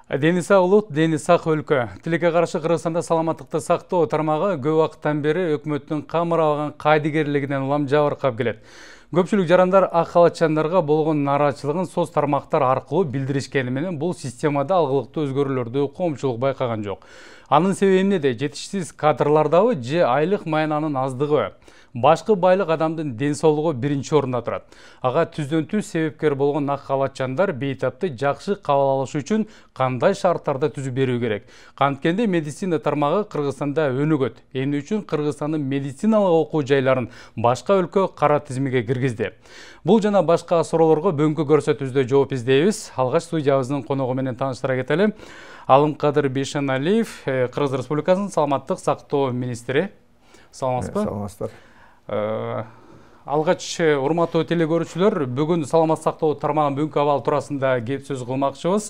Дени сак улут, дени сак өлкө. Тилекке каршы Кыргызстанда саламаттыкты сактоо тармагы көп убакыттан бери өкмөттүн камырабаган кайдыгерлигинен улам жабыркап келет. Көпчүлүк жарандар ак халатчандарга болгон нааразычылыгын соц тармактар аркылуу билдиришкени менен бул системада алгылыктуу өзгөрүүлөрдү коомчулук байкаган жок. Анын себеби эмнеде? Жетишсиз кадрлардабы же айлык маянанын аздыгыбы? Башкы байлык адамдын ден соолугу биринчи орунда турат. Ага түздөн түз себепкер болгон ак халатчандар бейтапты жакшы кабыл алыш үчүн кандай шарттарды түзүп берүү керек? Канткенде медицина тармагы Кыргызстанда өнүгөт. Эмне үчүн Кыргызстандын медициналык окуу жайларын башка өлкө кара тизмеге киргизди? Бул жана башка суроолорго бүгүнкү көрсөтүүбүздө жооп издейбиз. Алгач студиябыздын коногу менен тааныштыра кетели. Алымкадыр Бейшеналиев, Кыргыз Республикасынын саламаттык сактоо министри. Саламатсызбы? Саламатсыздар. Алгач, урматтуу телекөрүүчүлөр, бүгүн саламаттык сактоо тармагынын бүгүнкү абалы туурасында кеп сөз кылмакчыбыз.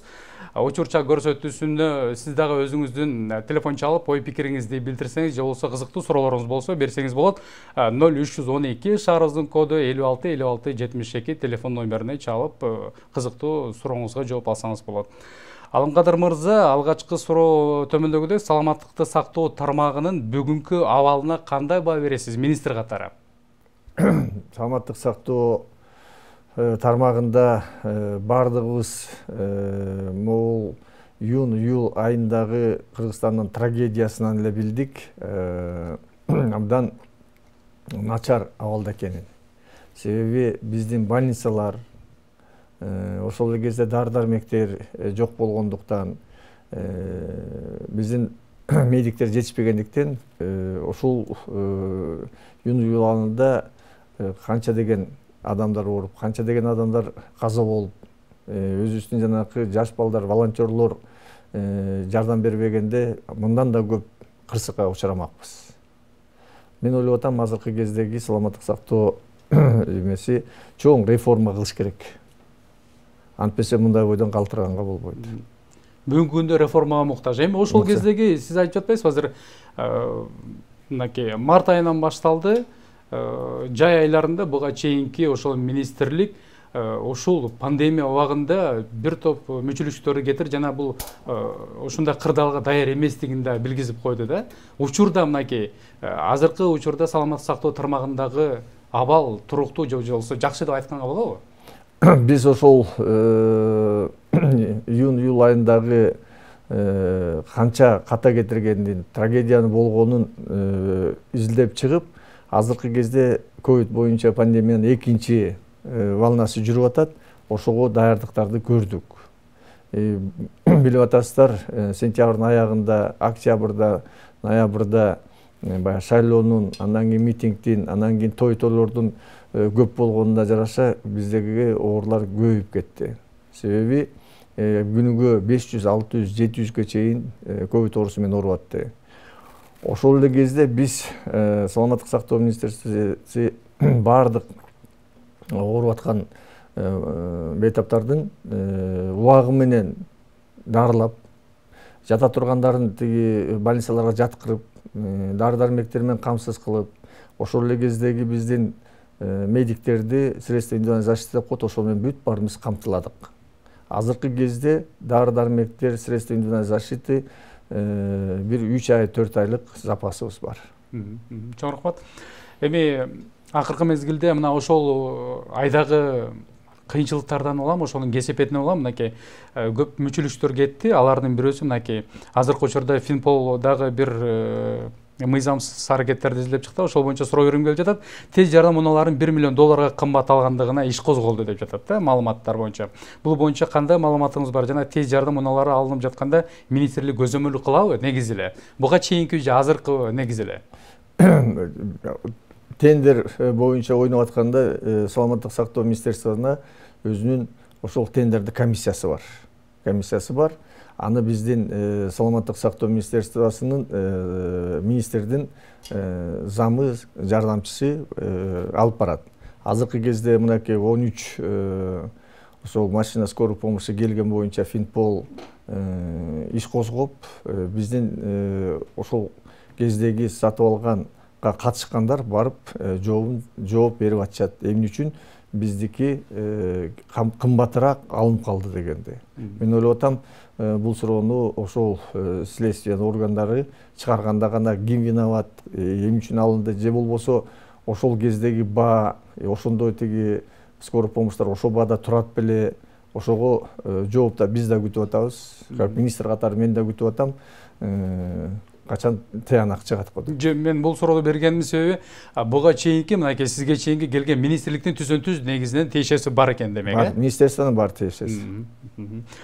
Учурча көрсөтүүсүндө сиз дагы өзүңүздүн телефон чалып, ой пикириңизди билдирсеңиз же болбосо кызыктуу суроолоруңуз болсо берсеңиз болот. 0312 шаарыбыздын коду 56 56 72 телефон номерине чалып, кызыктуу сурооңузга жооп алсаңыз болот. Алымкадыр мырза, алгачкы суроо төмөндөгүдөй саламаттыкты сактоо тармагынын бүгүнкү абалына кандай баа бересиз министр катары? Саламаттык сактоо тармагында бардыгыбыз могул июнь-июль айындагы Кыргызстандын трагедиясынан эле билдик, абдан начар абалда экенин. Себеби биздин больницалар ошол эле кезде дары-дармектер жок болгондуктан, биздин медиктер жетишпегендиктен, ошол июнь-июль айында канча деген адамдар ооруп, канча деген адамдар каза болуп, өзүбүздүн жанакы жаш балдар, волонтерлор жардам бербегенде мындан да көп кырсыкка учурамакпыз. Мен ойлоп атам, азыркы кездеги саламаттык сактоо эмеси чоң реформа кылыш керек. Антпесе мындай бойдон калтырганга болбойт. Бүгүнкү күндө реформага муктаж. Эми ошол кездеги сиз айтып жатпайсызбы, азыр мынакей март айынан башталды, жай айларында буга чейинки ошол министрлик ушул пандемия убагында бир топ мүчүлүштөрдү кетирип, жана бул ушундай кырдаалга даяр эместигин да билгизип койду да. Учурда мынакей азыркы учурда саламаттык сактоо тармагындагы абал туруктуу же болбосо жакшы деп айтканга болобу? Биз ошол июнь-июль айындагы канча ката кетиргендин, трагедиянын болгонун изилдеп чыгып, азыркы кезде ковид боюнча пандемиянын экинчи волнасы жүрүп атат. Ошого даярдыктарды көрдүк. Билип атасыздар, сентябрдын аягында, октябрда, ноябрда баягы шайлоонун, андан кийин митингдин, андан кийин той-тойлордун көп болгонуна жараша биздеги оорулар көбөйүп кетти. Себеби күнүгө 500, 600, 700ге чейин ковид оорусу менен ооруп атты. Ошол эле кезде биз саламаттык сактоо министрлиги бардык ооруп аткан бейтаптардын убагы менен дарылап, жата тургандарын тиги больницаларга жаткырып, дары-дармектер менен камсыз кылып, ошол эле кездеги биздин медиктерди средства индивидуальной защиты деп коет, ошол менен бүт баарыбыз камтыладык. Азыркы кезде дары-дармектер, средства индивидуальной защиты бир 3 ай, 4 айлык запасыбыз бар. Чоң рахмат. Эми акыркы мезгилде мына ошол айдагы кыйынчылыктардан улам, ошонун кесепетинен улам мынакей көп мүчүлүштөр кетти. Алардын бирөөсү мынакей азыркы учурда Финпол дагы бир мыйзамсыз аракеттерди изилдеп чыкты. Ошол боюнча суроо берим келип жатат. Тез жардам унааларын $1 миллион кымбат алгандыгына иш козголду деп жатат да, маалыматтар боюнча. Бул боюнча кандай маалыматыңыз бар? Жана тез жардам унаалары алынып жатканда министрлик көзөмөлдүк кылабы негизи эле? Буга чейинки же азыркы негизи эле? Тендер боюнча ойноп атканда саламаттык сактоо министрлигине өзүнүн ошол тендерди комиссиясы бар. Аны биздин саламаттык сактоо министрлигинин министрдин замы, жардамчысы алып барат. Азыркы кезде мынакей 13 ошол машина скорой помощи келген боюнча Финпол иш козгоп, биздин ошол кездеги сатып алганга катышкандар барып жооп берип атышат. Эмне үчүн? биздики кымбатыраак алынып калды дегенде. Мен ойлоп атам, бул суроону ошол следствие органдары чыгарганда гана ким виноват, эмне үчүн алынды, же болбосо ошол кездеги баа, ошондой тиги скорый помощьтар ошол баада турат беле, ошого жооп да биз да күтүп атабыз. Как министр катары мен да күтүп атам. Качан тыянак чыгат го деп. Мен бул суроону бергениmin себеби буга чейинки мынакей сизге чейинки келген министрликтин түзөн-түз негизинен тиешеси бар экен демек, э? Министрликтен бар тиешеси.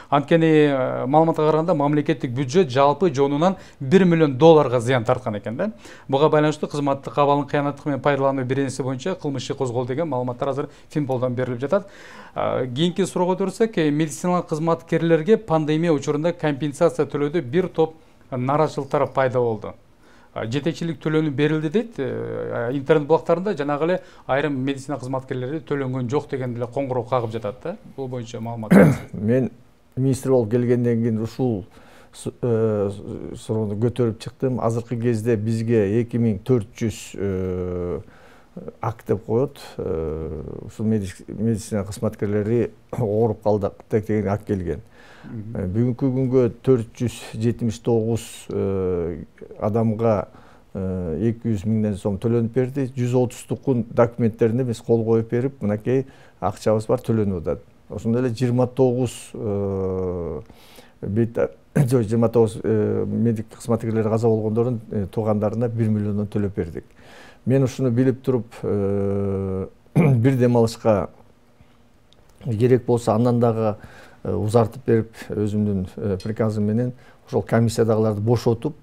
Анткени маалыматка караганда мамлекеттик бюджет жалпы жонунан $1 миллион зыян тарткан экен да. Буга байланыштуу кызматтык абалын кыянаттык менен пайдалануу беренеси боюнча кылмыш иши козголду деген маалыматтар азыр Финполдон берилип жатат. Кийинки суроого өтсөк, медициналык кызматкерлерге пандемия учурунда компенсация төлөөдө бир топ нараачылыктар пайда болду. Жетекчилик төлөнүп берилди дейт. Интернет блоктарында жанагы эле айрым медицина кызматкерлери төлөнгөн жок деген деле коңгуроо кагып жатат да. Бул боюнча маалымат. Мен министр болуп келгенден кийин ушул суроону көтөрүп чыктым. Азыркы кезде бизге 2400 акт деп коет. Ушул медицина кызматкерлери ооруп калдык деген акт келген. Бүгүнкү күнгө 479 адамга 200 миңден сом төлөнүп берди. 130 документтерине биз кол коюп берип, мынакей акчабыз бар, төлөнүп атат. Ошондой эле 29 медик кызматкерлери каза болгондордун туугандарына 1 миллиондон төлөп бердик. Мен ушуну билип туруп, бир дем алышка керек болсо андан дагы узартып берип, өзүмдүн приказым менен ошол комиссиядагыларды бошотуп,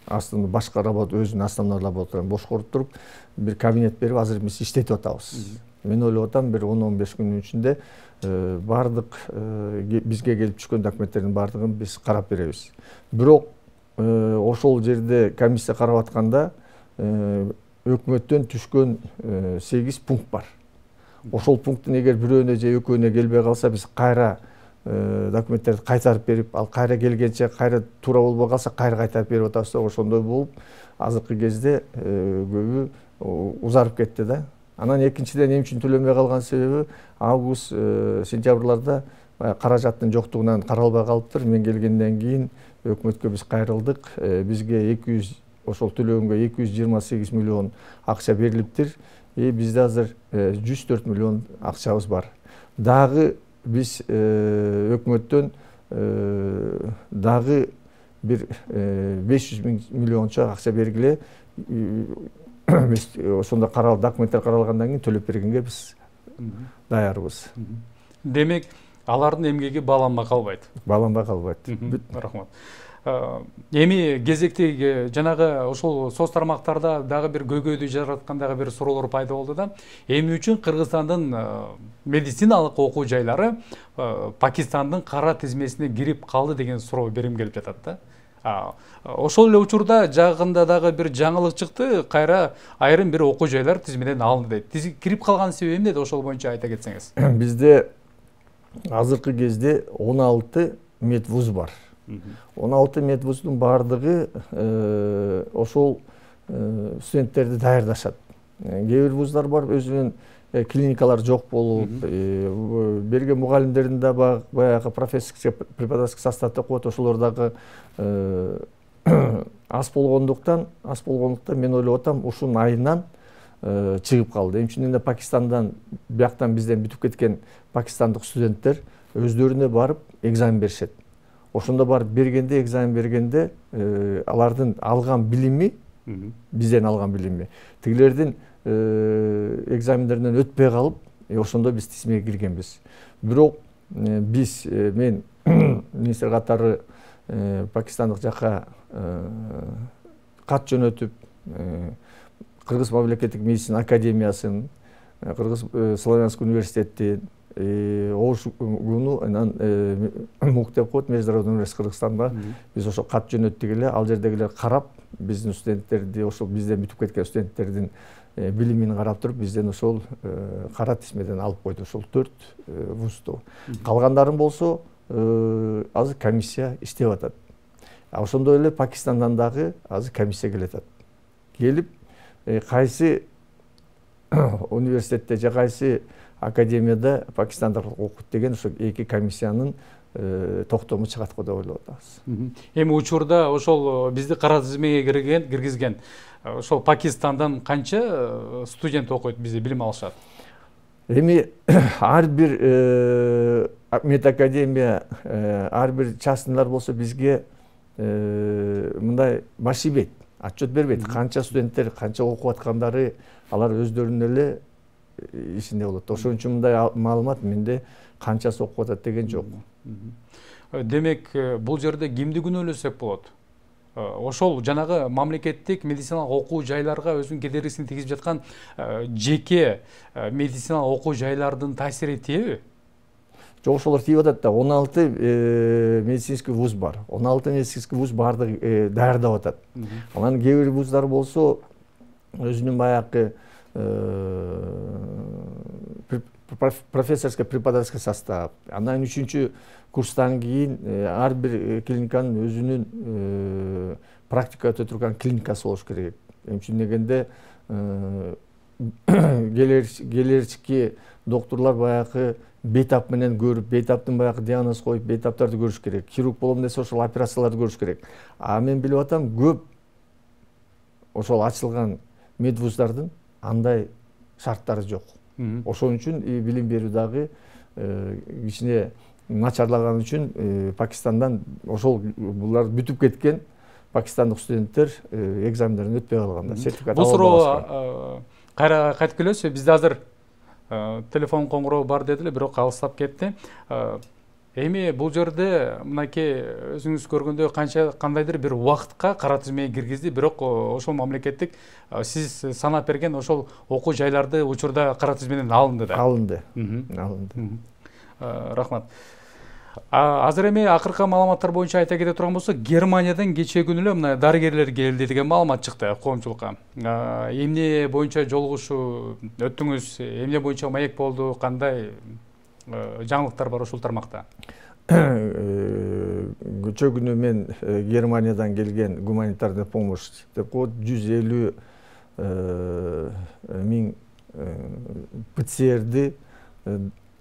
астында башка работа, өзүнүн основной работаларын бошкоруп туруп, бир кабинет берип, азыр биз иштетип атабыз. Мен ойлоп атам, бир 10-15 күнүн ичинде бардык бизге келип түшкөн документтердин бардыгын биз карап беребиз. Бирок ошол жерде комиссия карап атканда өкмөттөн түшкөн 8 пункт бар. Ошол пункттун эгер бирөөнө же экөөнө келбей калса, биз кайра документтерди кайтарып берип, ал кайра келгенче кайра туура болбой калса, кайра кайтарып берип атабыз. Ошондой болуп, азыркы кезде көбү узарып кетти да. Анан экинчиден эмне үчүн төлөнбөй калган себеби август, сентябрларда каражаттын жоктугунан каралбай калыптыр. Мен келгенден кийин өкмөткө биз кайрылдык. Бизге 200 ошол төлөгөнгө 228 миллион акча берилиптир. Бизде азыр 104 миллион акчабыз бар. Дагы биз өкмөттөн дагы бир 500 миллиончо акча бергиле. Биз ошондо документтер каралгандан кийин төлөп бергенге биз даярбыз. Демек, алардын эмгеги бааланбай калбайт. Бааланбай калбайт. Рахмат. Эми кезекти жанагы ошол соц тармактарда дагы бир көйгөйдү жараткан дагы бир суроолор пайда болду да. Эмне үчүн Кыргызстандын медициналык окуу жайлары Пакистандын кара тизмесине кирип калды деген суроо берим келип жатат да. Ошол эле учурда жагында дагы бир жаңылык чыкты, кайра айрым бир окуу жайлар тизмеден алынды дейт. Кирип калган себеби эмне? Ошол боюнча айта кетсеңиз. Бизде азыркы кезде 16 медвуз бар. 16 медвуздун бардыгы ошол студенттерди даярдашат. Кээ бир вуздар бар, өзүнүн клиникалар жок болуп, берген мугалимдердин да баягы профессорский преподавательский состав деп коет, ошолор дагы аз болгондуктан мен ойлоп атам, ушунун айынан чыгып калды. Эмне үчүн Пакистандан, бияктан бизден бүтүп кеткен пакистандык студенттер өздөрүнө барып экзамен беришет. Ошондо барып бергенде, экзамен бергенде алардын алган билими, бизден алган билими, тигилердин экзамендеринен өтпөй калып, ошондо биз тизмеге киргенбиз. Бирок биз, мен министр катары пакистандык жакка кат жөнөтүп, Кыргыз мамлекеттик медицина академиясын, Кыргыз Славянский университеттин, Оошуну, МУК деп коет, Международный университет Кыргызстанда, биз ошо кат жөнөттүк эле, ал жердегилер карап, биздин студенттерди, ошол бизден бүтүп кеткен студенттердин билимин карап туруп, бизден ошол кара тизмеден алып койду, ошол 4 вузду. Калгандарын болсо азыр комиссия иштеп атат. Ошондой эле Пакистандан дагы азыр комиссия келатат. Келип, кайсы университетте же кайсы академияда пакистандык окут деген ошо эки комиссиянын токтому чыгат го деп ойлоп атабыз. Эми учурда ошол бизди кара тизмеге киргизген ошол Пакистандан канча студент окуйт, бизде билим алышат? Эми ар бир медакадемия, ар бир частныйлар болсо бизге мындай баш ийбейт, отчет бербейт. Канча студенттер, канча окуп аткандары алар өздөрүнүн эле ишинде болот. Ошон үчүн мындай маалымат менде канчасы окуп атат деген жок. Демек, бул жерде кимди күнөөлөсөк болот? Ошол жанагы мамлекеттик медициналык окуу жайларга өзүнүн кедергисин тийгизип жаткан жеке медициналык окуу жайлардын таасири тийеби? Жок, ошолор тийип атат да. 16 медицинский вуз бар. 16 медицинский вуз баардыгы даярдап атат. Анан кээ бир вуздар болсо өзүнүн баягы профессорско преподавательский состав. Андан 3-чү курстан кийин ар бир клиниканын өзүнүн практика өтө турган клиникасы болуш керек. Эмче дегенде келерчики докторлор баягы бейтап менен көрүп, бейтаптын баягы диагноз коюп, бейтаптарды көрүш керек. Хирург болом десе ошол операцияларды көрүш керек. А мен билип атам, көп ошол ачылган медвуздардын андай шарттары жок. Ошон үчүн билим берүү дагы кичине начарлаган үчүн Пакистандан ошол булар бүтүп кеткен пакистандык студенттер экзамендерин өтпөй калганда сертификат алып алышкан. Кайра кайтып келесизби? Бизде азыр телефон коңгуроо бар дедиле, бирок алыстап кетти. Эми бул жерде мынакей өзүңүз көргөндөй кандайдыр бир убакытка кара тизмеге киргизди, бирок ошол мамлекеттик сиз санап берген ошол окуу жайларды учурда кара тизмеден алынды да. Алынды. Рахмат. Азыр эми акыркы маалыматтар боюнча айта кете турган болсок, Германиядан кечээ күнү эле мына дарыгерлер келди деген маалымат чыкты коомчулукка. Эмне боюнча жолугушуу өттүңүз? Эмне боюнча маек болду? Кандай жаңылыктар бар ушул тармакта? Кечээ күнү мен Германиядан келген гуманитарный помощь деп коет 150 миң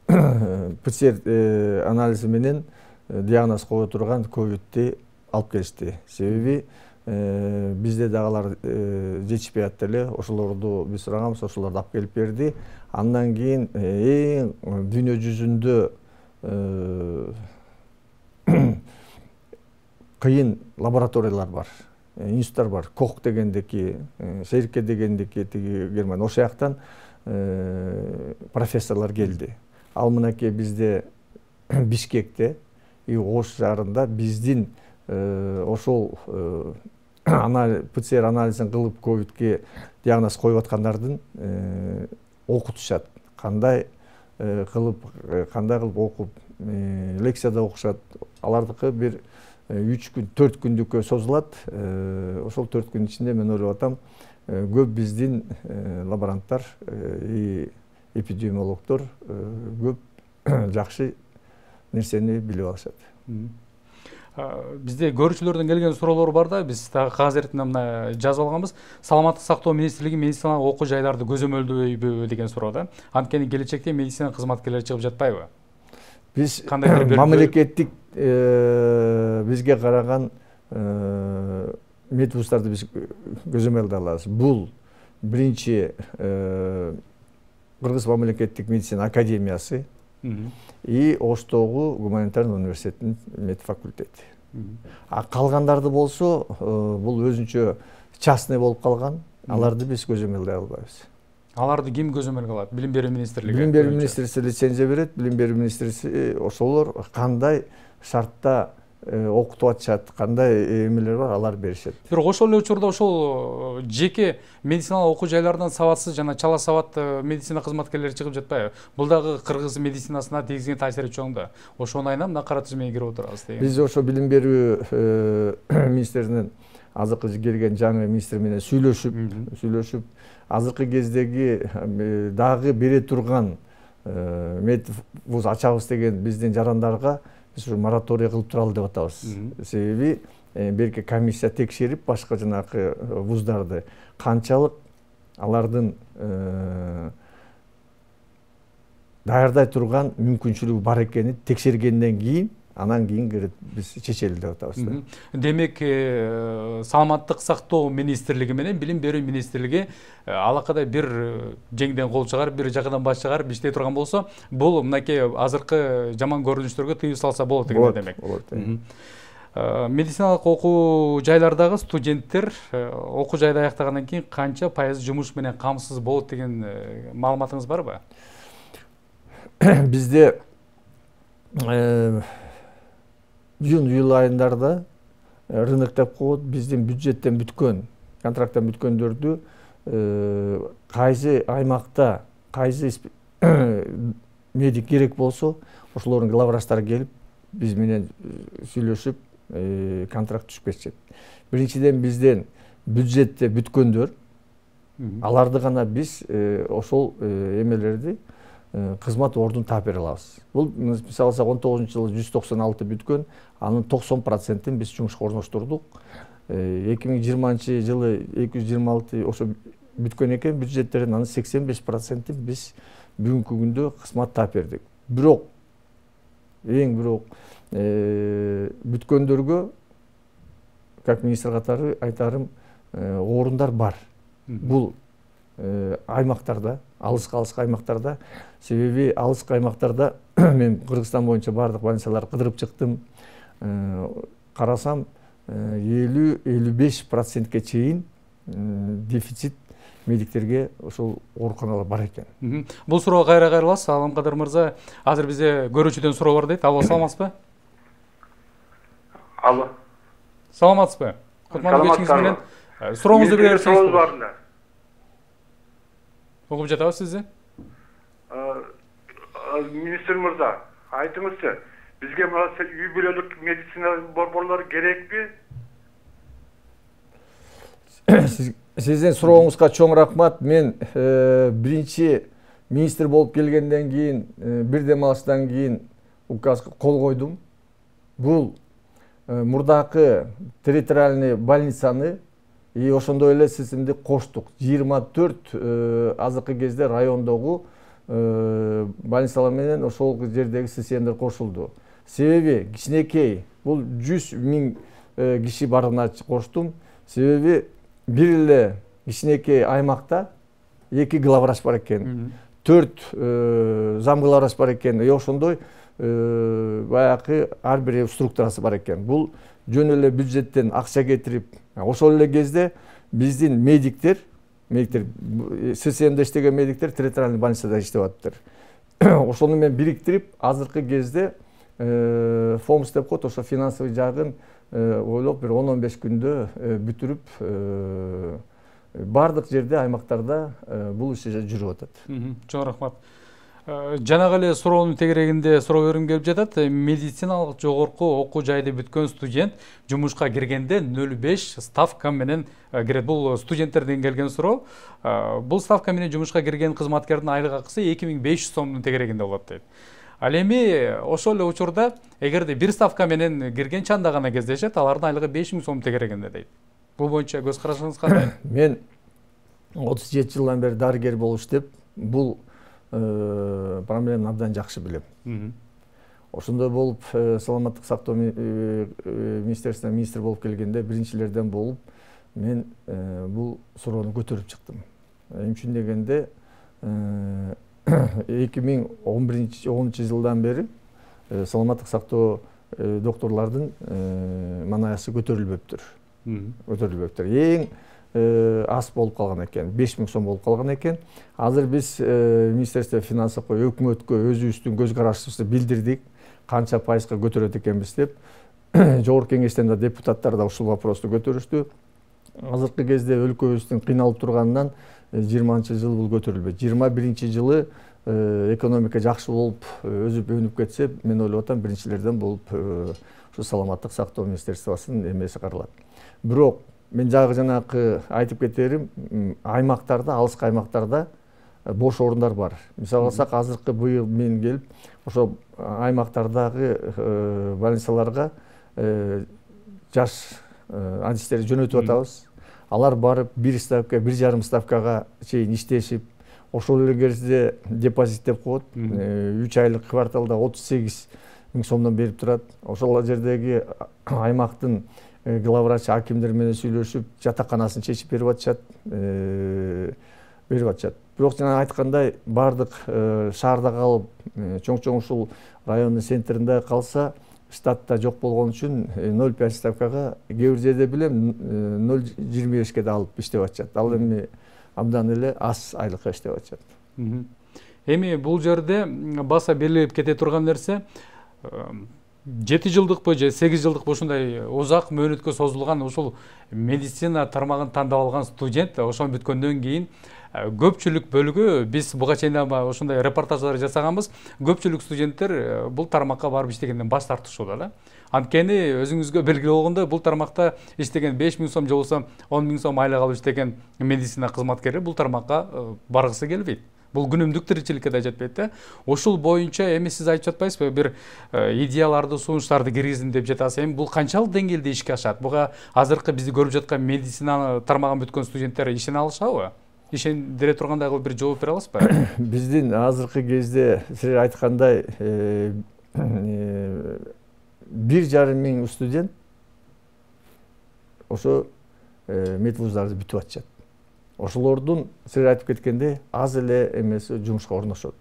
ПЦР анализи менен диагноз кое турган ковидти алып келишти. Себеби бизде дагы жетишпей атты эле. Ошолорду биз сураганбыз, ошолорду алып келип берди. Андан кийин эң дүйнө жүзүндө кыйын лабораториялар бар, институттар бар. Кох дегендики, Шерке дегендики, тиги Германия. Ошол жактан профессорлор келди. Ал мынакей бизде Бишкекте, Ош шаарында биздин ошол ПЦР анализин кылып ковидке диагноз коюп аткандардын окутушат. Кандай кылып окуп, лекцияда окушат. Алардыкы бир 3 күн, 4 күндүккө созулат. Ошол 4 күн ичинде мен ойлоп атам, көп биздин лаборанттар, эпидемиологдор көп жакшы нерсени билип алышат. Бизде көрүүчүлөрдөн келген суроолор бар да, биз дагы кагаз эртинде мына жазып алганбыз. Саламаттык сактоо министрлиги медициналык окуу жайларды көзөмөлдөйбү деген суроо да. Анткени келечекте медицина кызматкерлери чыгып жатпайбы? Биз мамлекеттик бизге караган медвуздарды биз көзөмөлдөй алабыз. Бул биринчи Кыргыз мамлекеттик медицина академиясы и Оштогу гуманитарный университеттин медфакультети. А калгандарды болсо, бул өзүнчө частный болуп калган, аларды биз көзөмөлдөй албайбыз. Аларды ким көзөмөлгө алат? Билим берүү министрлиги. Билим берүү министрлиги лицензия берет, билим берүү министрлиги ошолор кандай шартта окутуп атышат, кандай эмелер бар, алар беришет. Бирок ошол эле учурда ошол жеке медициналык окуу жайлардан сабатсыз жана чала сабаттуу медицина кызматкерлери чыгып жатпайбы? Бул дагы кыргыз медицинасына тийгизген таасири чоң да. Ошону айнам мына кара тизмеге кирип отурабыз деген. Биз ошо билим берүү министринин азыркы келген жаңы министр менен сүйлөшүп, азыркы кездеги дагы бере турган медвуз ачабыз деген биздин жарандарга биз мораторий кылып туралы деп атабыз. Себеби берки комиссия текшерип, башка жанагы вуздарды канчалык алардын даярдай турган мүмкүнчүлүгү бар экенин текшергенден кийин анан кийин кирет биз чечели деп атабыз да. Демек, саламаттык сактоо министрлиги менен билим берүү министрлиги алакадай бир жеңден кол чыгарып, бир жакадан баш чыгарып иштей турган болсо, бул мынакей азыркы жаман көрүнүштөргө тыюу салса болот деген демек. Медициналык окуу жайлардагы студенттер окуу жайды аяктагандан кийин канча пайыз жумуш менен камсыз болот деген маалыматыңыз барбы? Бизде июнь айындарда рынок деп коет, биздин бюджеттен бүткөн, контракттан бүткөндөрдү кайсы аймакта кайсы медик керек болсо, ошолордун главврачтары келип биз менен сүйлөшүп контракт түшүп кетишет. Биринчиден бизден бюджетте бүткөндөр, аларды гана биз ошол эмелерди кызмат ордун таап бере алабыз. Бул мисалы 19-жылы 196 бүткөн, анын 90%-ин биз жумушка орноштурдук. 2020-жылы 226 ошо бүткөн экен, бюджеттердин анын 85%-ин биз бүгүнкү күндө кызмат таап бердик. Бирок бүткөндөргө, как министр катары айтарым, орундар бар. Бул аймактарда, алыска аймактарда, себеби алыска аймактарда мен Кыргызстан боюнча бардык больницаларды кыдырып чыктым. Карасам 50-55%ке чейин дефицит медиктерге ошол ооруканалар бар экен. Бул суроого кайра кайрыласыз. Аламкадыр мырза, азыр бизде көрүүчүдөн суроо бар дейт. Алло, саламатсызбы? Алло. Саламатсызбы? Кутмандуу кечиңиз менен сурооңузду бериңиз. Угуп жатабыз сизди. Министр мырза, айтыңызчы, бизге мына үй бүлөлүк медицина борборлору керекпи? Сиздин сурооңузга чоң рахмат. Мен биринчи министр болуп келгенден кийин, бир дем алыстан кийин указга кол койдум. Бул мурдакы территориальный больницаны ошондой эле системди коштук. 24 азыркы кезде райондогу больницалар менен ошол жердеги системдер кошулду. Себеби кичинекей, бул 100.000 киши барына коштум. Себеби бир эле кичинекей аймакта 2 главврач бар экен, 4 зам главврач бар экен, ошондой баягы ар бир структурасы бар экен. Бул жөн эле бюджеттен акча кетирип, ошол эле кезде биздин медиктер ССМде иштеген медиктер территориальный больницада иштеп атыптыр. Ошону мен бириктирип, азыркы кезде ФОМС деп коет, ошо финансовый жагын ойлоп бир 10-15 күндө бүтүрүп, бардык жерде аймактарда бул иш жүрүп атат. Чоң рахмат. Жанагы эле суроонун тегерегинде суроо берим келип жатат. Медициналык жогорку окуу жайды бүткөн студент жумушка киргенде 0,5 ставка менен кирет. Бул студенттерден келген суроо. Бул ставка менен жумушка кирген кызматкердин айлык акысы 2500 сомдун тегерегинде болот дейт. Ал эми ошол эле учурда эгерде бир ставка менен кирген чанда гана кездешет, алардын айлыгы 5000 сом тегерегинде дейт. Бул боюнча көз карашыңыз кандай? Мен 37 жылдан бери дарыгер болуп иштеп, бул проблеманы абдан жакшы билем. Ошондой болуп, саламаттык сактоо министерствосуна министр болуп келгенде биринчилерден болуп, мен бул суроону көтөрүп чыктым. Эмне үчүн дегенде 2010 жылдан бери саламаттык сактоо докторлордун манаясы көтөрүлбөптүр. Эң аз болуп калган экен, 5000 сом болуп калган экен. Азыр биз Министерство финансовго, өкмөткө өзүбүздүн көз карашыбызды билдирдик, канча пайызга көтөрөт экенбиз деп. Жогорку кеңештен да депутаттар да ушул вопросту көтөрүштү. Азыркы кезде өлкөбүздүн кыйналып турганынан 20-жыл бул көтөрүлбөйт. 21-жылы экономика жакшы болуп, өзүп өнүп кетсе, мен ойлоп атам биринчилерден болуп ушу саламаттык сактоо министерствосунун эмеси каралат. Бирок мен жанагы айтып кетерим, аймактарда, алыска аймактарда бош орундар бар. Мисалы алсак, азыркы быйыл мен келип, ошо аймактардагы больницаларга жаш адистерди жөнөтүп атабыз. Алар барып 1 ставка, 1,5 ставкага чейин иштешип, ошол эле кезде депозит деп коет. 3 айлык кварталда 38 000 сомдон берип турат. Ошол жердеги аймактын главврач акимдер менен сүйлөшүп, жатаканасын чечип берип атышат. Бирок жана айткандай, бардык шаарда калып, чоң ушул райондун центринде калса, штатта жок болгон үчүн 0,5 ставкага, кээ бир жерде билем 0,25ке да алып иштеп атышат. Ал эми абдан эле аз айлыкка иштеп атышат. Эми бул жерде баса белгилеп кете турган нерсе, 7 жылдыкпы же 8 жылдыкпы ушундай узак мөөнөткө созулган ушул медицина тармагын тандап алган студент ошон бүткөндөн кийин көпчүлүк бөлүгү, биз буга чейин ошондой репортаждар жасаганбыз, көпчүлүк студенттер бул тармакка барып иштегенден баш тартышууда да. Анткени өзүңүзгө белгилүү болгондой, бул тармакта иштеген 5 000 сом же болбосо 10 000 сом айлык алып иштеген медицина кызматкери бул тармакка баргысы келбейт. Бул күнүмдүк тиричиликке да жетпейт да. Ошол боюнча эми сиз айтып жатпайсызбы, бир идеяларды, сунуштарды киргизим деп жатасыз. Эми бул канчалык деңгээлде ишке ашат? Буга азыркы бизди көрүп жаткан медицина тармагын бүткөн студенттер ишене алышабы? Ишендире тургандай бир жооп бере аласызбы? Биздин азыркы кезде сиз айткандай 1,5 миң студент ошо медвуздарды бүтүп атышат. Ошолордун сиз айтып кеткендей аз эле эмеси жумушка орношот.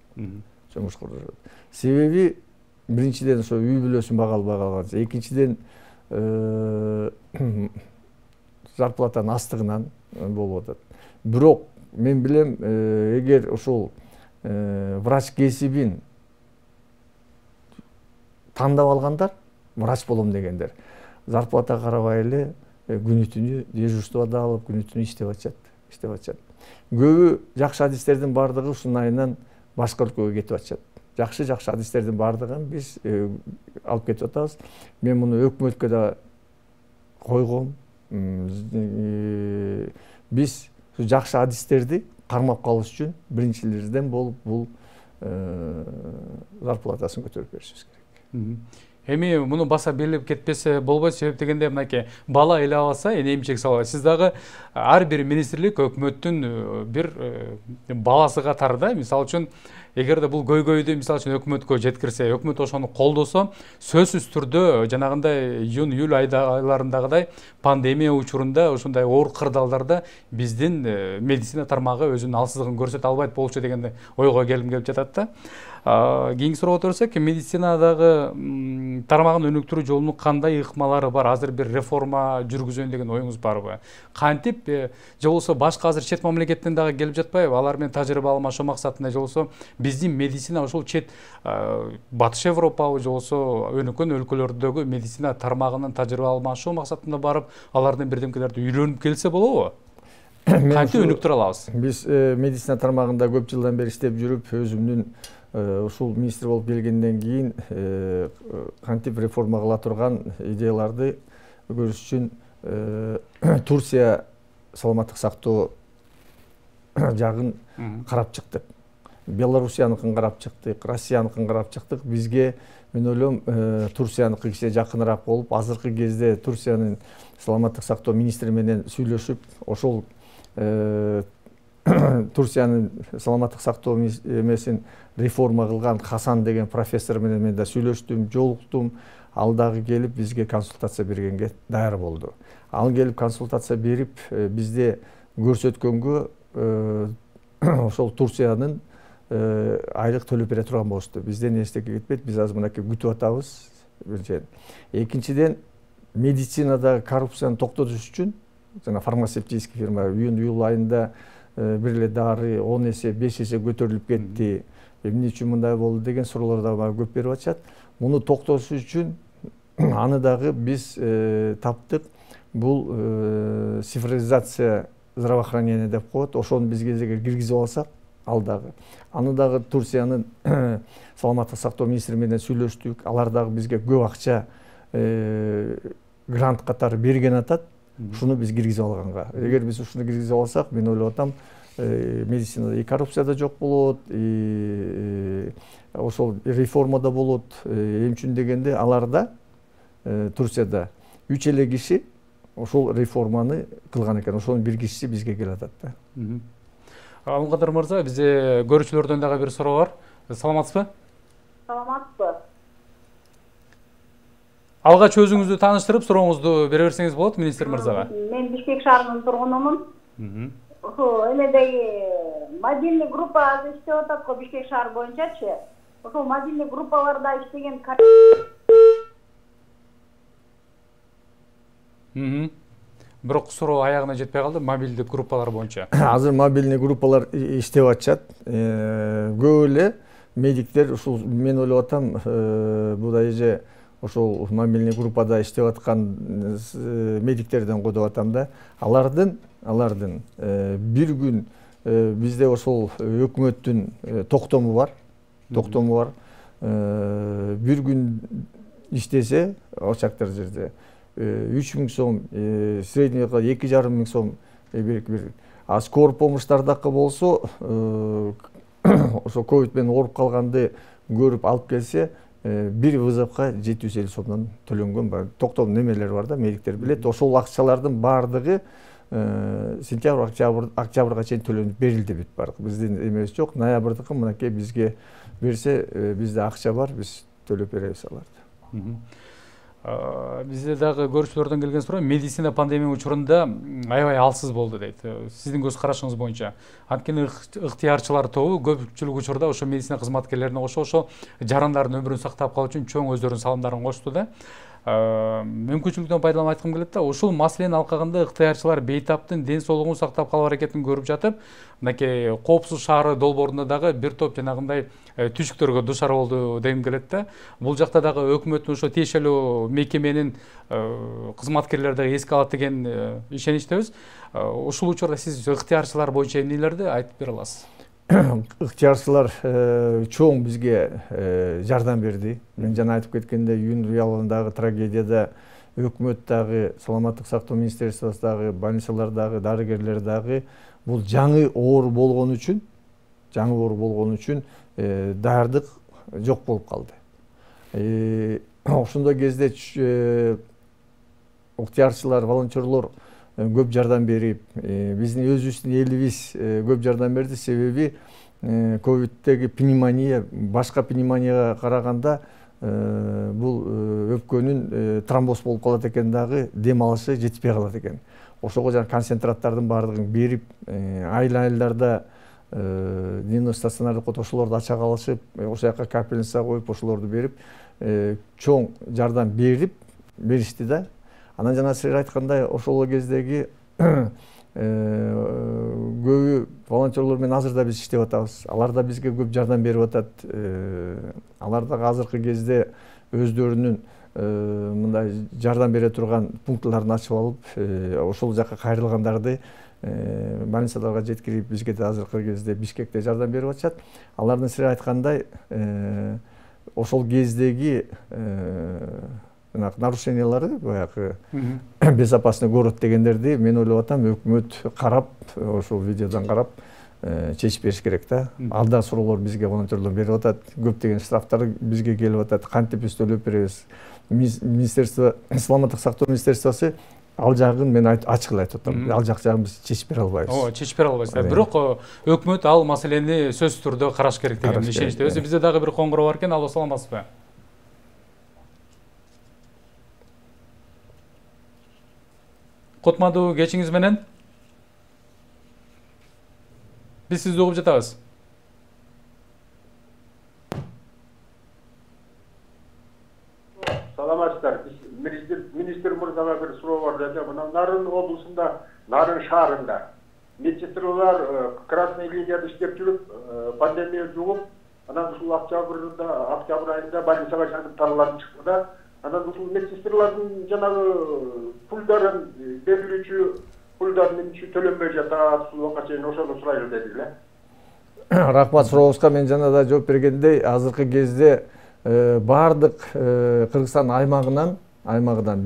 Себеби биринчиден ошо үй бүлөсүн бага албай калган, экинчиден зарплатанын астыгынан болуп атат. Бирок мен билем, эгер ошол врач кесибин тандап алгандар, врач болом дегендер, зарплата карабай эле күнү-түнү дежурствода алып, күнү-түнү иштеп атышат. Көбү жакшы адистердин бардыгы ушунун айынан башка өлкөгө кетип атышат. Жакшы адистердин бардыгын биз алып кетип атабыз. Мен муну өкмөткө да койгом. Биз жакшы адистерди кармап калыш үчүн биринчилерден болуп бул зарплатасын көтөрүп беришибиз керек. Эми муну баса белгилеп кетпесе болбойт, себеп дегенде мынакей бала эле алса, эне эмчек салат. Сиз дагы ар бир министрлик өкмөттүн бир баласы катарында, мисалы үчүн эгерде бул көйгөйдү мисалы үчүн өкмөткө жеткирсе, өкмөт ошону колдосо, сөзсүз түрдө жанагындай июнь-июль айларындагыдай пандемия учурунда ушундай оор кырдаалдарда биздин медицина тармагы өзүнүн алсыздыгын көрсөтө албайт болчу деген ойго келип жатат да. Кийинки суроого өтсөк, медицинадагы тармагын өнүктүрүү жолунун кандай ыкмалары бар? Азыр бир реформа жүргүзөйүн деген оюңуз барбы? Кантип же болбосо башка азыр чет мамлекеттен дагы келип жатпайбы? Алар менен тажрыйба алмашуу максатында же болбосо биздин медицина ошол чет Батыш Европабы же болбосо өнүккөн өлкөлөрдөгү медицина тармагынын тажрыйба алмашуу максатында барып, алардын бирдемкелерди үйрөнүп келсе болобу? Кантип өнүктүрө алабыз? Биз медицина тармагында көп жылдан бери иштеп жүрүп, өзүмдүн ушул министр болуп келгенден кийин кантип реформа кыла турган идеяларды көрүш үчүн Турция саламаттык сактоо жагын карап чыктык. Белоруссияныкын карап чыктык, Россияныкын карап чыктык. Бизге мен ойлойм Турцияныкы кичине жакыныраак болуп, азыркы кезде Турциянын саламаттык сактоо министри менен сүйлөшүп, ошол Турциянын саламаттык сактоо эмесин реформа кылган Хасан деген профессор менен мен да сүйлөштүм, жолуктум. Ал дагы келип бизге консультация бергенге даяр болду. Ал келип консультация берип бизде көрсөткөнгө ошол Турциянын айлык төлөп бере турган болушту. Бизден эчтеке кетпейт, биз азыр мынакей күтүп атабыз. Биринчиден. Экинчиден, медицинада коррупцияны токтотуш үчүн жана фармацевтический фирма июнь-июль айында бир эле дары 10 эсе, 5 эсе көтөрүлүп кетти. Эмне үчүн мындай болду деген суроолор дагы көп берип атышат. Муну токтотуш үчүн аны дагы биз таптык. Бул цифровизация здравоохранения деп коет. Ошону биз кезеге киргизип алсак, ал дагы. Аны дагы Турциянын саламаттык сактоо министри менен сүйлөштүк. Алар дагы бизге көп акча грант катары берген атат. Ушуну биз киргизип алганга. Эгер биз ушуну киргизип алсак, мен ойлоп атам, медицинада и коррупция да жок болот, ошол реформа да болот. Эмчүн дегенде аларда Турцияда 3 эле киши ошол реформаны кылган экен. Ошонун бир кишиси бизге келип атат да. Алымқадыр мырза, бизде көрүүчүлөрдөн дагы бир суроо бар. Саламатсызбы? Саламатсызбы? Алгач өзүңүздү тааныштырып, сурооңузду бере берсеңиз болот министр мырзага. Мен Бишкек шаарынын тургунумун. Эмедеги мобильный группа азыр иштеп атат го Бишкек шаар боюнчачы. Ошол мобильный группаларда иштеген Бирок суроо аягына жетпей калды, мобилдик группалар боюнча. Азыр мобильный группалар иштеп атышат. Көп эле медиктер ушул мен ойлоп атам, бул эже ошол мобильный группада иштеп аткан медиктерден койдоп атам да. Алардын бир күн бизде ошол өкмөттүн токтому бар. Бир күн иштесе, ошактар жерде 3000 сом, средний 2,5 сом бир. А скорый помощьтардакы болсо, ошо ковид менен ооруп калганды көрүп алып келсе, бир вызовка 750 сомдон төлөнгөн бар. Токтом немелер бар да, медиктер билет. Ошол акчалардын баардыгы сентябрь, октябрга чейин төлөнүп берилди бүт бардык. Биздин эмебиз жок. Ноябрдыкы мынакей бизге берсе, бизде акча бар, биз төлөп беребиз аларды. Бизде дагы көрүүчүлөрдөн келген суроо, медицина пандемия учурунда аябай алсыз болду дейт. Сиздин көз карашыңыз боюнча, анткени ыктыярчылар тобу көпчүлүк учурда ошо медицина кызматкерлерине кошо ошо жарандардын өмүрүн сактап калуу үчүн чоң өздөрүнүн салымдарын кошту да. Мүмкүнчүлүктөн пайдаланып айткым келет да, ушул маселенин алкагында ыктыярчылар бейтаптын ден соолугун сактап калуу аракетин көрүп жатып, мынакей коопсуз шаары долбоорунда дагы бир топ жанагындай түшүктөргө дуушар болду дегим келет да. Бул жакта дагы өкмөттүн ошо тиешелүү мекеменин кызматкерлери дагы эске алат деген ишеничтебиз. Ушул учурда сиз ыктыярчылар боюнча эмнелерди айтып бере аласыз? Ыктыярчылар чоң бизге жардам берди. Мен жана айтып кеткендей, июнь уялындагы трагедияда өкмөт дагы, саламаттык сактоо министерствосу дагы, больницалар дагы, дарыгерлер дагы бул жаңы оору болгон үчүн даярдык жок болуп калды. Ошондой кезде ыктыярчылар, волонтерлор көп жардам берип, биздин өзүбүздүн элибиз көп жардам берди. Себеби ковидтеги пневмония, башка пневмонияга караганда бул өпкөнүн тромбоз болуп калат экен дагы, дем алышы жетишпей калат экен. Ошого жана концентраттардын баардыгын берип, айылдарда дневной стационардык ошолорду ача калышып, ошол жака капельница коюп, ошолорду берип, чоң жардам беришти да. Анан жана сиз айткандай, ошол кездеги көбү волонтерлор менен азыр да биз иштеп атабыз. Алар да бизге көп жардам берип атат. Алар да азыркы кезде өздөрүнүн мындай жардам бере турган пунктларын ачып алып, ошол жака кайрылгандарды больницаларга жеткирип, бизге да азыркы кезде Бишкекте жардам берип атышат. Алардын сиз айткандай, ошол кездеги нарушениялары, баягы безопасный город дегендерди мен ойлоп атам, өкмөт карап, ошол видеодон карап чечип бериш керек да. Алда суроолор бизге волонтерлор берип атат, көптөгөн штрафтар бизге келип атат, кантип биз төлөп беребиз. Министерство, саламаттык сактоо министерствосу ал жагын мен ачык эле айтып атам. Ал жак жагын биз чечип бере албайбыз. Чечип бере албайсыздар. Бирок өкмөт ал маселени сөзсүз түрдө караш керек деген ишеничтебиз. Бизде дагы бир коңгуроо бар экен. Алло, саламатсызбы? Кутмандуу кечиңиз менен. Биз сизди угуп жатабыз. Саламатсыздар. Министр мырзага бир суроо бар деди. Мына Нарын облусунда, Нарын шаарында медсестралар красный линияда иштеп жүрүп, пандемия жугуп, анан ушул октябрь айында больницага жатып таралып чыкты да. Анан ушул медсестралардын жанагы пулдарын берилүүчү пулдарын төлөнбөй жатат, ушул убакка чейин ошону сурайлы деди эле. Рахмат сурообузга. Мен жана да жооп бергендей, азыркы кезде баардык Кыргызстан аймагынан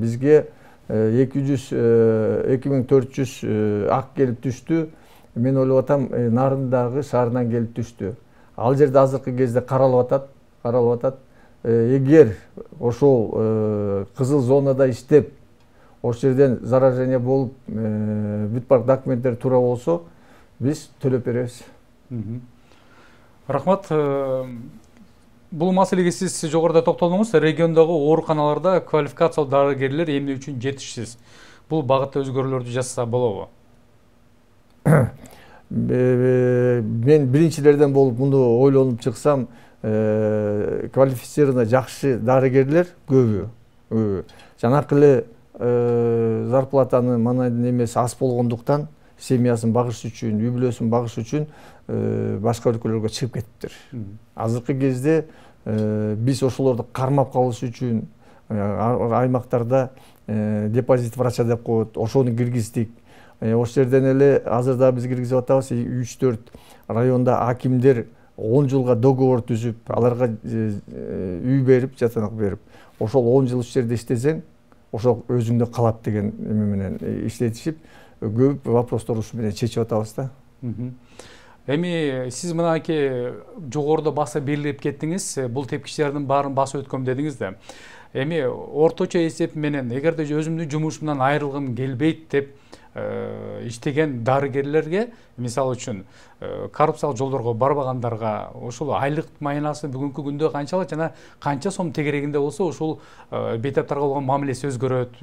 бизге 2400 ак келип түштү. Мен ойлоп атам, Нарындагы шаарынан келип түштү. Ал жерде азыркы кезде каралып атат. Эгер ошол кызыл зонада иштеп, ошол жерден заражение болуп, бүт бар документтер туура болсо, биз төлөп беребиз. Рахмат. Бул маселеге сиз жогоруда токтолдуңуз. Региондогу ооруканаларда квалификациялуу дарыгерлер эмне үчүн жетишсиз? Бул багытта өзгөрүүлөрдү жасаса болобу? Мен биринчилерден болуп муну ойлонуп чыксам, квалифицированный жакшы дарыгерлер көбү. Жанакы эле зарплатаны манайдын эмеси аз болгондуктан семьясын багыш үчүн, үй бүлөсүн багыш үчүн башка өлкөлөргө чыгып кетиптир. Азыркы кезде биз ошолорду кармап калыш үчүн аймактарда депозит врача деп коет, ошону киргиздик. Ошол жерден эле азырда биз киргизип атабыз, 3-4 районда акимдер 10 жылга договор түзүп, аларга үй берип, жатанак берип, ошол 10 жыл ушул жерде иштесең, ошол өзүңдө калат деген эме менен иштетишип, көп вопростор ушу менен чечип атабыз да. Эми сиз мынакей жогоруда баса белгилеп кеттиңиз, бул тепкичтердин баарын басып өткөм дедиңиз да. Эми орточо эсеп менен эгерде өзүмдүн жумушумдан айрылгым келбейт деп иштеген дарыгерлерге, мисалы үчүн коррупциялык жолдорго барбагандарга ушул айлык майнасы бүгүнкү күндө канчалык жана канча сом тегерегинде болсо ушул бейтаптарга болгон мамилеси өзгөрөт?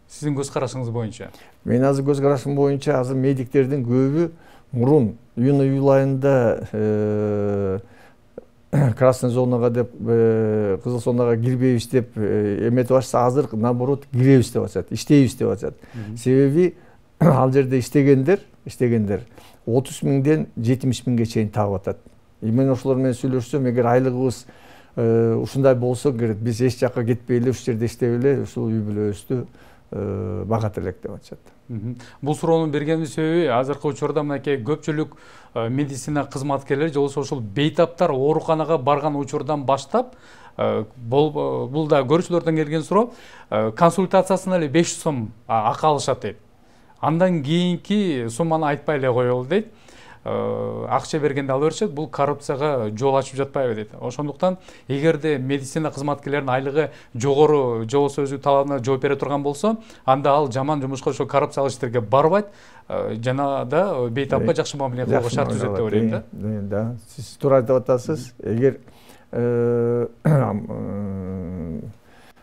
Сиздин көз карашыңыз боюнча? Мен азыр көз карашым боюнча азыр медиктердин көбү мурун июнь айында красный зонага деп, кызыл зонага кирбейбиз деп эметип атышса, азыр наоборот киребиз деп атышат, иштейбиз деп атышат. Себеби ал жерде иштегендер 30 миңден 70 миңге чейин таап атат. Мен ошолор менен сүйлөшсөм, эгер айлыгыбыз ушундай болсо, биз эч жакка кетпей эле ушул жерде иштеп эле ушул үй бүлөбүздү багат элек деп атышат. Бул суроону бергенин себеби азыркы учурда мынакей көпчүлүк медицина кызматкерлери же болбосо ошол бейтаптар ооруканага барган учурдан баштап, бул да көрүүчүлөрдөн келген суроо, консультациясына эле 500 сом акы алышат дейт. Андан кийинки сумманы айтпай эле коелу дейт. Акча бергенде ала беришет, бул коррупцияга жол ачып жатпайбы дейт. Ошондуктан эгерде медицина кызматкерлеринин айлыгы жогору же болбосо өзү талабына жооп бере турган болсо, анда ал жаман жумушка, ошо коррупциялык иштерге барбайт, жана да бейтапка жакшы мамиле кылууга шарт түзөт деп ойлойм да. Да, сиз туура айтып атасыз. Эгер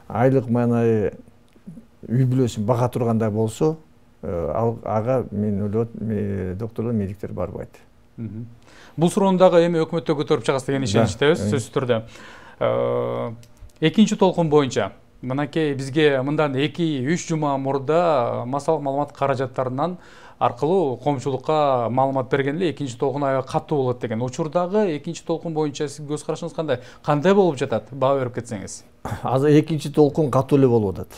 айлык манайы үй бүлөсүн бага тургандай болсо, ага мен ойлойт, докторлор, медиктер барбайт. Бул суроону дагы эми өкмөттө көтөрүп чыгасыз деген ишеничтебиз, сөзсүз түрдө. Экинчи толкун боюнча мынакей бизге мындан 2-3 жума мурда массалык маалымат каражаттарынан аркылуу коомчулукка маалымат берген эле, экинчи толкун аябай катуу болот деген. Учурдагы экинчи толкун боюнча сиздин көз карашыңыз кандай? Кандай болуп жатат? Баа берип кетсеңиз. Азыр экинчи толкун катуу эле болуп атат.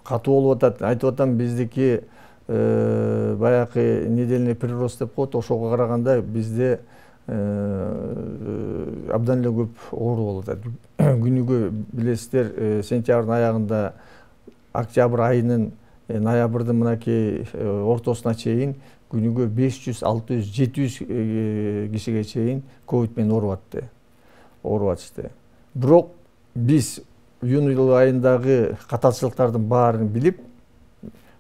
Катуу болуп атат. Айтып атам, биздики баягы недельный прирост деп коет, ошого караганда бизде абдан эле көп оору болуп атат. Күнүгө билесиздер, сентябрдын аягында, октябрь айынын ноябрдын мынакей ортосуна чейин күнүгө 500, 600, 700 кишиге чейин ковид менен ооруп атышты. Бирок биз июнь айындагы катачылыктардын баарын билип,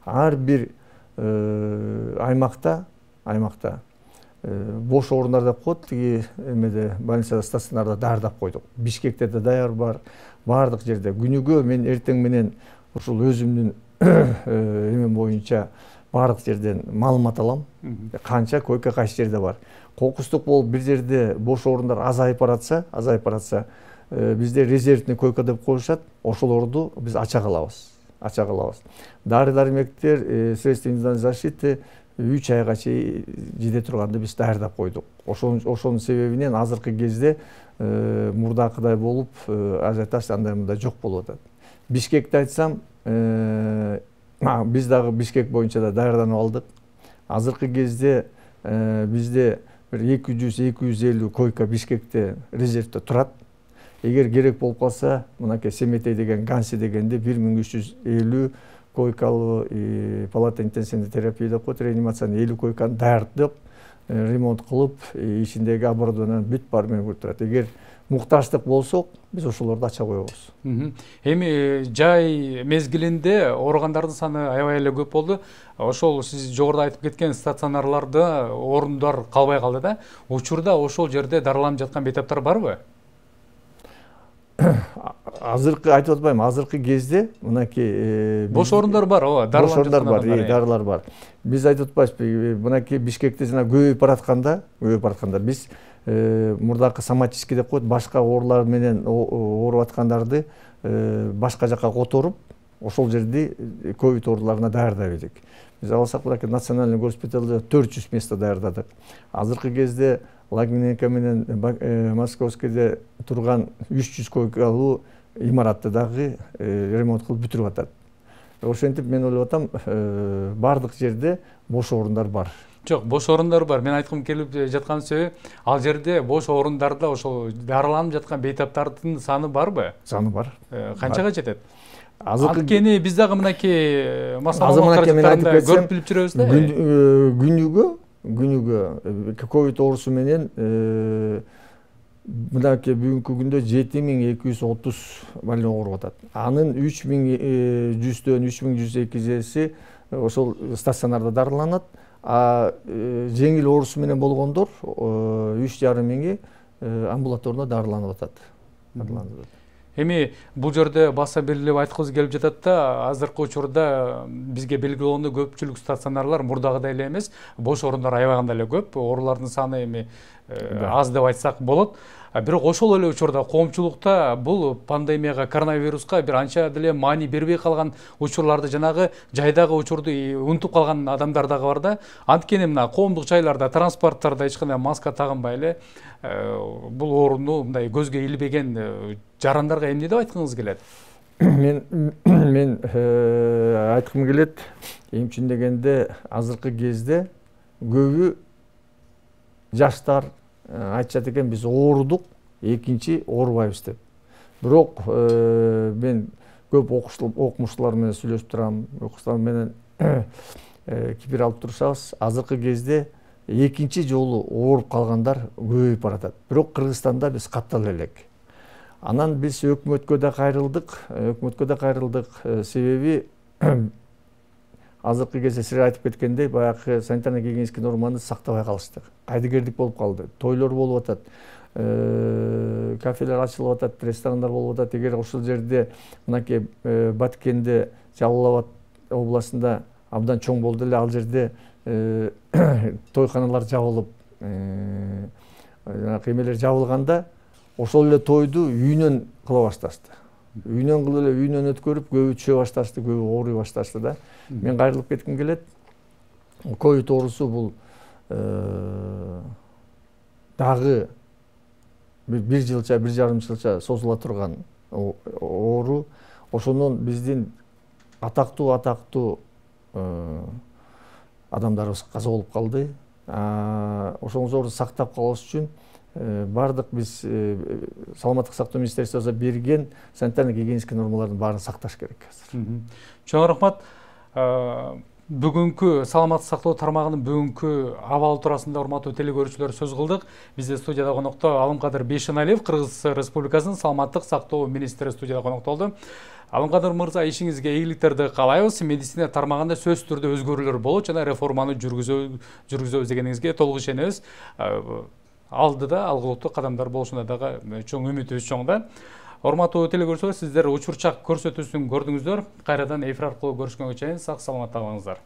ар бир аймакта бош орундар деп коет, тиги эмеде больницада, стационарда даярдап койдук. Бишкекте да даяр бар, баардык жерде. Күнүгө мен эртең менен ушул өзүмдүн эмем боюнча баардык жерден маалымат алам. Канча койка кайсы жерде бар. Кокустук болуп бир жерде бош орундар азайып баратса, бизде резервный койка деп коюшат. Ошолорду биз ача калабыз. Дары-дармектер, средства индивидуальной защиты 3 айга чейин жете турганды биз даярдап койдук. Ошонун себебинен азыркы кезде мурдакыдай болуп, ажиотаж андай мындай жок болуп атат. Бишкекти айтсам, биз дагы Бишкек боюнча да даярданып алдык. Азыркы кезде бизде бир 200-250 койка Бишкекте резервде турат. Эгер керек болуп калса, мынакей Семетей деген, Ганси дегенде 1350 койкалуу палата интенсивный терапия деп коет, реанимацияны 50 койканы даярдап, ремонт кылып, ичиндеги оборудованиянын бүт баары менен турат. Эгер муктаждык болсок, биз ошолорду ача коебуз. Эми жай мезгилинде ооругандардын саны аябай эле көп болду. Ошол сиз жогоруда айтып кеткен стационарларда орундар калбай калды да. Учурда ошол жерде дарыланып жаткан бейтаптар барбы? Азыркы айтып атпайм, азыркы кезде мынакей бош орундар бар, ооба, бош орундар бар, дарылар бар. Биз айтып атпайбызбы, мынакей Бишкекте жана көбөйүп баратканда биз мурдакы соматический деп коет, башка оорулар менен ооруп аткандарды башка жака которуп, ошол жерди ковид ооруларына даярдап едик. Биз алсак мынакей национальный госпиталда 400 место даярдадык. Азыркы кезде Лагминенко менен Московскийде турган 300 койкалуу имаратты дагы ремонт кылып бүтүрүп атат. Ошентип мен ойлоп атам, бардык жерде бош орундар бар. Жок, бош орундар бар. Мен айткым келип жаткан себеби, ал жерде бош орундарда ошол дарыланып жаткан бейтаптардын саны барбы? Саны бар. Канчага жетет? Анткени биз дагы мынакей каражаттарында көрүп билип жүрөбүз да. Күнүгө ковид оорусу менен мынакей бүгүнкү күндө 7230 больной ооруп атат. Анын 3100дөн 3102-си ошол стационарда дарыланат. А жеңил оорусу менен болгондор 3500 амбулаторно дарыланып атат. Эми бул жерде баса белгилеп айткыбыз келип жатат да, азыркы учурда бизге белгилүү болгондой көпчүлүк стационарлар мурдагыдай эле эмес, бош орундар аябаганда эле көп, оорулардын саны эми аз деп айтсак болот. Бирок ошол эле учурда коомчулукта бул пандемияга, коронавируска бир анча деле маани бербей калган учурларды, жанагы жайдагы учурду унутуп калган адамдар дагы бар да. Анткени мына коомдук жайларда, транспорттарда эч кандай маска тагынбай эле бул ооруну мындай көзгө илбеген жарандарга эмне деп айткыңыз келет? Мен айткым келет, эмчи дегенде азыркы кезде көбү жаштар айтышат экен, биз оорудук, экинчи оорубайбыз деп. Бирок мен көп окумуштуулар менен сүйлөшүп турам, окуучулар менен кипир алып турсабыз, азыркы кезде экинчи жолу ооруп калгандар көбөйүп баратат. Бирок Кыргызстанда биз каттала элек. Анан биз өкмөткө да кайрылдык, себеби азыркы кезде сиз айтып кеткендей, баягы санитарно-гигиенический норманы сактабай калышты. Кайдыгердик болуп калды. Тойлор болуп атат, кафелер ачылып атат, ресторандар болуп атат. Эгер ошол жерде мынакей Баткенде, Жалал Абад областында абдан чоң болду эле, ал жерде тойканалар жабылып, эмелер жабылганда, ошол эле тойду үйүнөн кыла башташты. Үйүнөн кылып эле үйүнөн өткөрүп, көбү түшө башташты, көбү ооруй башташты да. Мен кайрылып кетким келет. Ковид оорусу бул дагы бир жылча, 1,5 жылча созула турган оору. Ошондон биздин атактуу адамдарыбыз каза болуп калды. Ошоңузду сактап калыш үчүн бардык биз саламаттык сактоо министерствосу берген санитарно-гигиенический нормалардын баарын сакташ керек азыр. Чоң рахмат. Бүгүнкү саламаттык сактоо тармагынын бүгүнкү абалы туурасында урматтуу телекөрүүчүлөр сөз кылдык. Бизде студияда конокто Алымкадыр Бейшеналиев, Кыргыз Республикасынын саламаттык сактоо министри студияда конокто болду. Алымкадыр мырза, ишиңизге ийгиликтерди каалайбыз. Медицина тармагында сөзсүз түрдө өзгөрүүлөр болот жана реформаны жүргүзөбүз дегениңизге толук ишенебиз. Алдыда алгылыктуу кадамдар болушуна дагы чоң үмүтүбүз чоң да. Урматтуу телекөрүүчүлөр, сиздер учурчак көрсөтүүсүн көрдүңүздөр. Кайрадан эфир аркылуу көрүшкөнгө чейин сак саламатта калыңыздар.